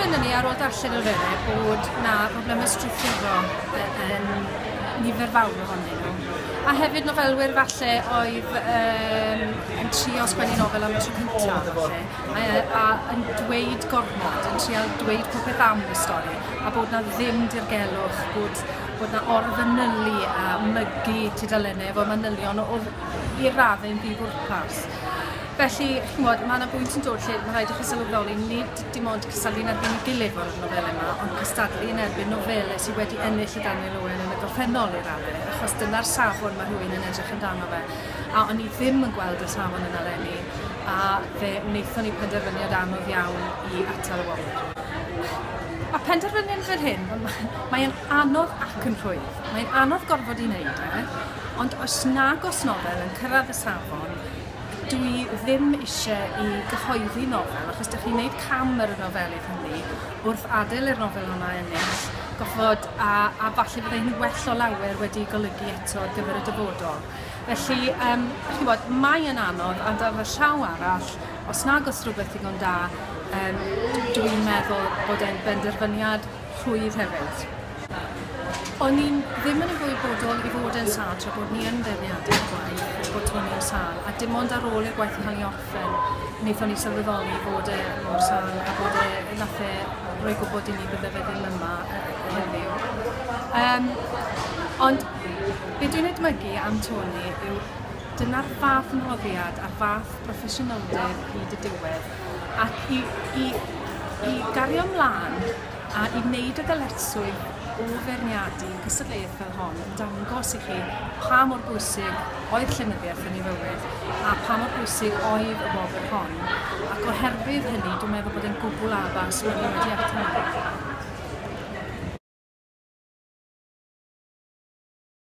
Penderfynon ni ar ôl darllen y nofelau bod 'na broblemau strwythurol yn nifer fawr ohonyn nhw. A hefyd nofelwyr falle oedd um, yn trio sgwennu nofel am y tro cyntaf falle, a, a yn dweud gormod, yn trial dweud popeth am y stori, a bod na ddim dirgelwch, bod, bod na orfanylu a mygu tudalennau efo manylion oedd i raddau'n ddifwrpas. Felly, chimod, mae yna bwynt yn dod lle mae rhaid i chi sylweddoli nid dim ond cystadlu yn erbyn ei gilydd o'r nofelau yma, ond cystadlu yn erbyn nofelau sydd wedi ennill y Daniel Owen yn y gorffennol i raddau, achos dyna'r safon mae rhywun yn edrych amdano fe. A o'n i ddim yn gweld y safon yna leni, a fe wnaethon ni penderfyniad anodd iawn i atal y wobr. Mae penderfyniad fel hyn, mae'n anodd ac yn rhwydd. Mae'n anodd gorfod i wneud e, ond os nag os nofel yn cyrraedd y safon, dwi ddim eisiau i gyhoeddi nofel, achos dych chi'n gwneud cam ar y nofelydd hynny wrth adael i'r nofel yma ennill, goffod, a, a falle byddai hi'n well o lawer wedi golygu eto ar gyfer y dyfodol. Felly, um, chi'n bod, mae yn anodd, ond ar y llaw arall, os nag os rhywbeth ddigon da, um, dwi'n meddwl bod e'n benderfyniad rhwydd hefyd. O'n i'n ddim yn ymwybodol i fod yn sâl tra bod ni yn beirniadu'r gwaith, bod Tony yn sâl, a dim ond ar ôl i'r gwaith cael ei orffen, wnaethon ni sylweddoli fod e mor sâl a bod e, nath e roi gwybod i ni bydde fe ddim yma heddiw. Um, ond be dwi'n edmygu am Tony yw dyna'r fath ymroddiad a'r fath broffesiynoldeb hyd y diwedd ac i, i, i gario ymlaen a i wneud y ddyletswydd o feirniadu cystadleuaeth fel hon yn dangos i chi pa mor bwysig oedd llenyddiaeth yn ei fywyd a pa mor bwysig oedd y wobr hon. Ac oherwydd hynny, dwi'n meddwl bod e'n gwbl addas bod ni wedi atal.